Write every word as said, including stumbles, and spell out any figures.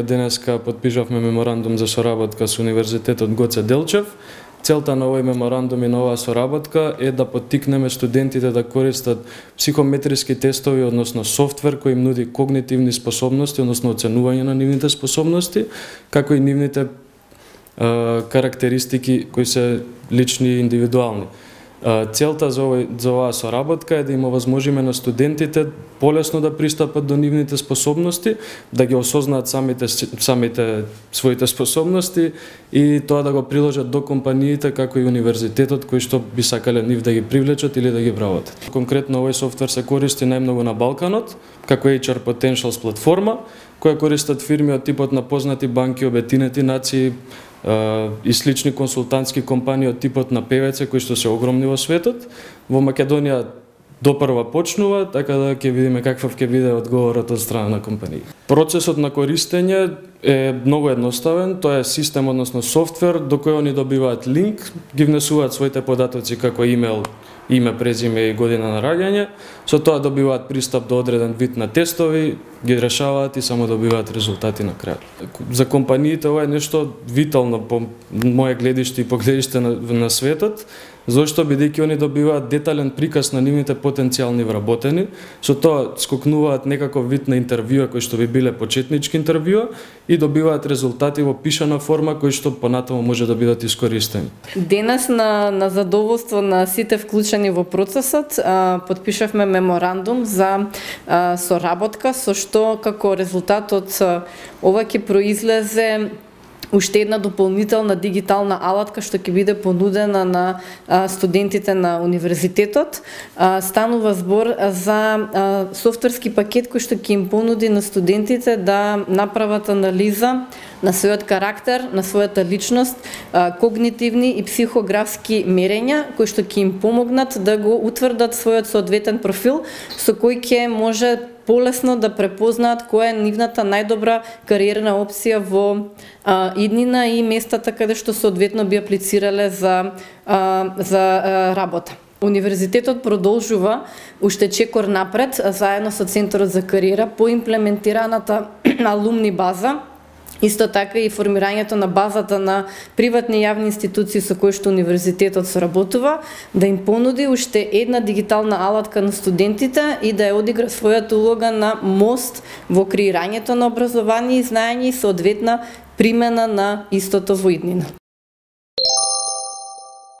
Денеска подпишавме меморандум за соработка со Универзитетот Гоце Делчев. Целта на овој меморандум и на оваа соработка е да поттикнеме студентите да користат психометриски тестови, односно софтвер кој им нуди когнитивни способности, односно оценување на нивните способности, како и нивните е, карактеристики кои се лични и индивидуални. Целта за, овој, за оваа соработка е да им овозможиме на студентите полесно да пристапат до нивните способности, да ги осознаат самите, самите своите способности и тоа да го приложат до компаниите како и универзитетот кои што би сакале нив да ги привлечат или да ги вработат. Конкретно овој софтвер се користи најмногу на Балканот, како Еич Ар Potentials платформа, која користат фирми од типот на познати банки, обединети нации, и слични консултантски компании од типот на Пе Ве Це кои што се огромни во светот. Во Македонија допрва почнува, така да ќе видиме каков ќе биде одговорот од страна на компании. Процесот на користење е многу едноставен, тоа е систем, односно софтвер до кој они добиваат линк, ги внесуваат своите податоци како имейл, име, презиме и година на раѓање, со тоа добиваат пристап до одреден вид на тестови, ги решаваат и само добиваат резултати на крај. За компаниите ова е нешто витално по моје гледиште и по гледиште на, на светот, зашто бидејќи они добиваат детален приказ на нивните потенцијални вработени, со тоа скокнуваат некаков вид на интервјуа кои што би биле почетнички интервјуа и добиваат резултати во пишана форма кои што понатаму може да бидат искористени. Денес на, на задоволство на сите вклучени во процесот а, подпишавме меморандум за а, соработка, со што како резултат од ова ќе произлезе уште една дополнителна дигитална алатка што ќе биде понудена на а, студентите на универзитетот. А, станува збор за а, софтверски пакет кој што ќе им понуди на студентите да направат анализа на својот карактер, на својата личност, а, когнитивни и психографски мерења кои што ќе им помогнат да го утврдат својот соодветен профил со кој ќе може полесно да препознаат која е нивната најдобра кариерна опција во а, иднина и местата каде што соодветно би аплицирале за, а, за а, работа. Универзитетот продолжува уште чекор напред заедно со Центарот за кариера по имплементираната алумни база. Исто така и формирањето на базата на приватни и јавни институции со кои што универзитетот соработува, да им понуди уште една дигитална алатка на студентите и да ја одигра својата улога на мост во креирањето на образование и знаење и соодветна примена на истото во иднина.